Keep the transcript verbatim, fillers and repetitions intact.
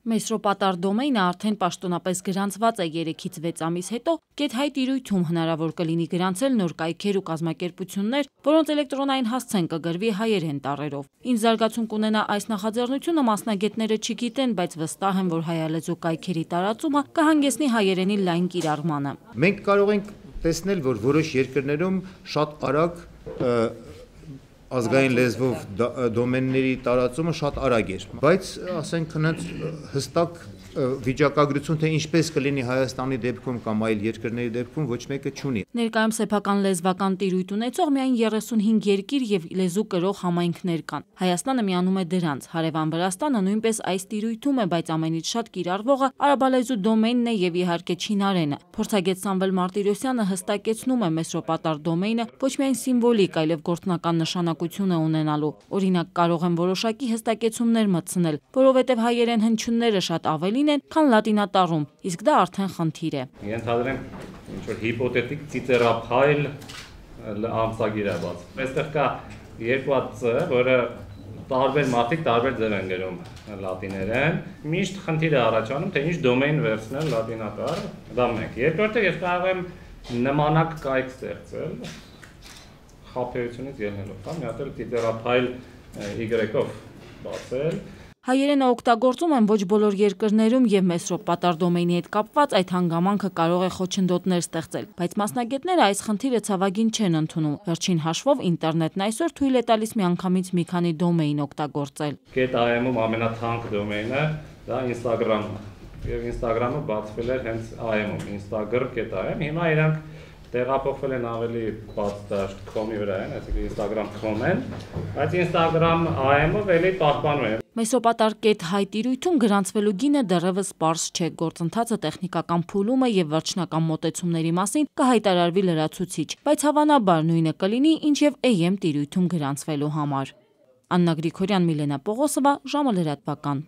Մեսրոպատար դոմեյնը արդեն պաշտոնապես գրանցված է երեքից վեց ամիս հետո, Get-Hi տիրույթում հնարավոր կլինի գրանցել նոր կայքեր ու կազմակերպություններ, որոնց էլեկտրոնային հասցեն կգրվի հայերեն տառերով։ Ինչ զարգացում կունենա այս նախաձեռնությունը մասնագետները չգիտեն, բայց վստահ են, որ հայալեզու կայքերի տարածումը կհանգեցնի հայերենի լայն կիրառմանը։ Մենք կարող ենք տեսնել, որ որոշ երկրներում շատ արագ ազգային լեզվով դոմենների տարածումը շատ արագ էր, բայց ասենք հստակ վիճակագրություն, թե ինչպես կլինի Հայաստանի դեպքում կամ այլ երկրների դեպքում ոչ մեկը չունի։ Ներկայում սեփական լեզվական տիրույթ ունեցող միայն երեսունհինգ երկիր եւ լեզու կրող համայնքներ կան։ Հայաստանը միանում է դրանց, հարևան Վրաստանը նույնպես այս տիրույթում է, բայց ամենից շատ կիրառվողը արաբալեզու դոմեյնն է եւ իհարկե չինարենը։ Փորձագետ Սամվել Մարտիրոսյանը հստակեցնում է մեսրոպատար դոմեյնը ոչ միայն սիմվոլիկ, այլև գործնական նշանակություն է ունենալու։ Օրինակ կարող են որոշակի հստակեցումներ մտցնել, որովհետեւ հայերեն հնչյունները շատ ավելի են, քան լատինատառում, իսկ դա արդեն խնդիր է։ Ենթադրենք ինչ-որ հիպոթետիկ ծիծեռափայլ ամսագիր է բաց։ Այստեղ կա երկու հատ ծ, որը տարբեր մարդիկ տարբեր ձև են գրում լատիներեն։ Միշտ խնդիր է առաջանում, թե ինչ դոմեյն վերցնել լատինատառ, դա մեկ։ Երկրորդը ես կարող եմ նմանակ կայք ստեղծել խաբեությունից ելնելով, կամ մի հատ էլ ծիծեռափայլ y-ով բացել։ Հայերենը օգտագործում են ոչ բոլոր երկրներում եւ մեսրոպատար դոմեյնի հետ կապված այդ հանգամանքը կարող է խոչընդոտներ ստեղծել, բայց մասնագետները այս խնդիրը ցավագին չեն ընդունում։ Վերջին հաշվով ինտերնետն այսօր թույլ է տալիս միանգամից մի քանի դոմեյն օգտագործել։ Get-I-ում ամենաթանկ դոմեյնը դա Instagram-ն է, եւ Instagram-ը բացվել էր հենց I M-ում, Instagram Get-I-ում։ Հիմա իրանք տեղափոխվել են ավելի բաց դաշտ com-ի վրա են, այսինքն Instagram com են, բայց Instagram I M-ով էլի պահպանում են։ Մեսրոպատար Get-Hi տիրույթում գրանցվելու գինը դեռևս պարզ չէ, գործընթացը տեխնիկական փուլում է եւ վերջնական մոտեցումների մասին կհայտարարվի լրացուցիչ, բայց հավանաբար նույնը կլինի, ինչ եւ A M տիրույթում գրանցվելու համար։ Աննա Գրիգորյան, Միլենա Պողոսովա, ժամը լրատվական։